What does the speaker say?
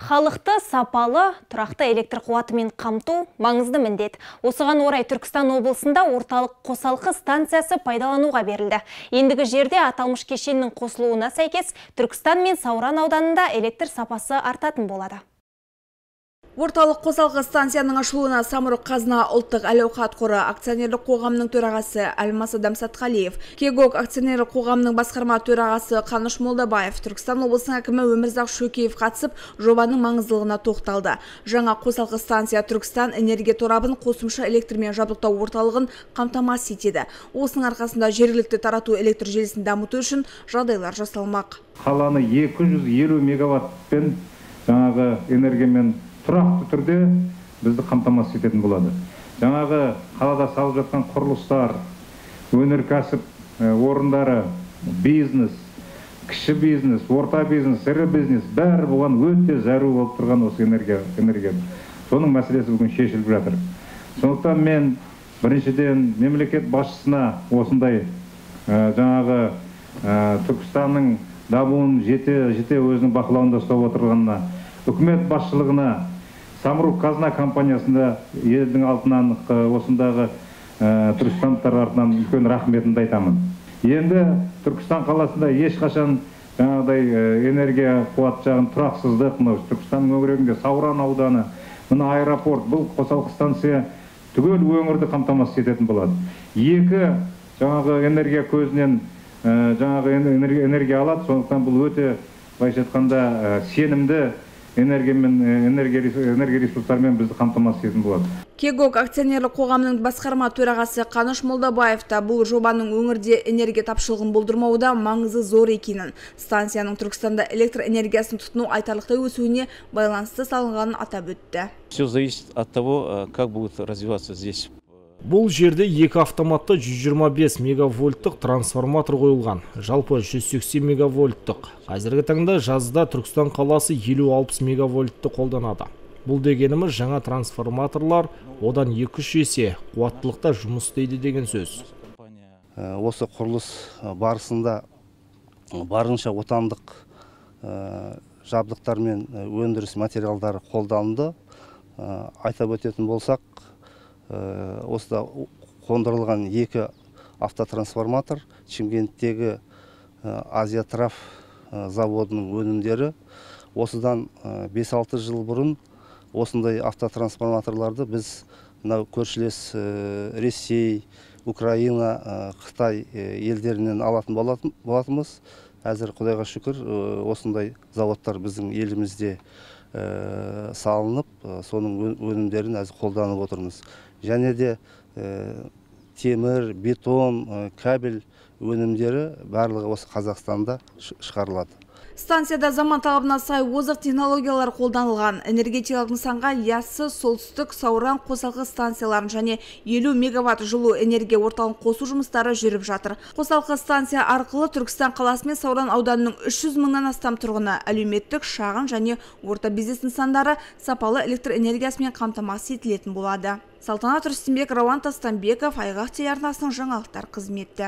Халықты сапалы, тұрақты электр қуатымен қамту маңызды міндет. Осыған орай Түркістан облысында орталық қосалқы станциясы пайдалануға берілді. Ендігі жерде аталмыш кешеннің қосылуына сәйкес Түркістан мен Сауран ауданында электр сапасы артатын болады. Орталық қосалқы станцияның ашылуына Самұрық-Қазына ұлттық әл-ауқат қоры акционерлік қоғамының төрағасы Әлмас Адамсатқалиев, Кегок акционерлік қоғамының басқарма төрағасы Қаныш Молдабаев, Түркістан облысының әкімі Өмірзақ Шөкеев қатысып, жобаның маңыздылығына тоқталды. Жаңа қосалқы станция Түркістан энергия торабын қосымша электрмен жабдықтау орталығын қамтамасыз етеді. Осының арқасында жергілікті тарату электр желісін дамыту үшін жағдайлар жасалмақ. Қаланы 250 мегаваттпен жаңағы энергиямен тұрақты түрде бізді қамтамасыз ететін болады. Жаңағы қалада салып жатқан құрылыстар, өнеркәсіп орындары, бизнес, кіші бизнес, орта бизнес, ірі бизнес бәрі бұған өте зәру болып тұрған осы энергия. Соның мәселесі бүгін шешіліп жатыр. Сондықтан мен біріншіден мемлекет басшысына осындай жаңағы Түркістанның дамуын жете өзінің бақылауында ұстап отырғанына, үкімет басшылығына, Самұрық-Қазына компаниясында елдің алтынан осындағы түркістандықтар артынан үлкен рахметімді айтамын. Енді Түркістан қаласында ешқашан жаңағыдай энергия қуат жағын тұрақсыздық, Түркістан өңірінде Сауран ауданы, мына аэропорт, бұл қосалқы станция түгел өңірді қамтамасыз ететін болады. Екі жаңағы энергия көзінен жаңағы энергия алады, сондықтан бұл өте былайша айтқанда сенімді энергия ресурстарымен бізді қамтамасыз ететін болады. Кегок акционерлік қоғамның басқарма төрағасы Қаныш Молдабаев та бұл жобаның өңірде энергия тапшылығын болдырмауда маңызы зор екенін, станцияның Түркістанда электр энергиясын тұтыну айтарлықтай өсуіне байланысты салынғанын атап өтті. Все зависит от того, как будет развиваться здесь. Бұл жерде екі автоматты 125 мегавольттық трансформатор қойылған. Жалпы 180 мегавольттық. Қазіргі таңда жазда Түркістан қаласы 50-60 мегавольтты қолданады. Бұл дегеніміз жаңа трансформаторлар одан 2-3 есе қуаттылықта жұмыс істейді деген сөз. Осы құрылыс барысында барынша отандық жабдықтар мен өндіріс материалдары қолданылды. Айтап өтетін болсақ, осыда қондырылған 2 автотрансформатор Шымкенттегі Азия-Траф заводының өнімдері. Осыдан 5-6 жыл бұрын осындай автотрансформаторларды біз көршілес Ресей, Украина, Қытай елдерінен алатын болатынбыз. Әзір Құдайға шүкір осындай заводтар біздің елімізде салынып, соның өнімдерін әзір қолданып отырмыз. Және де темір, бетон, кабель өнімдері барлығы осы Қазақстанда шығарылады. Станцияда заман талабына сай озық технологиялар қолданылған. Энергетикалық нысанға Яссы, Солтүстік, Сауран қосалқы станцияларын және 50 мегаватт жылу энергия орталығын қосу жұмыстары жүріп жатыр. Қосалқы станция арқылы Түркістан қаласы мен Сауран ауданының 300 мыңнан астам тұрғыны әлеуметтік, шағын және орта бизнес нысандары сапалы электр энергиясымен қамтамасыз етілетін болады. Салтанат Рүстембек, Рауан Тастанбеков, Айғақ телеарнасының жаңалықтар қызметі.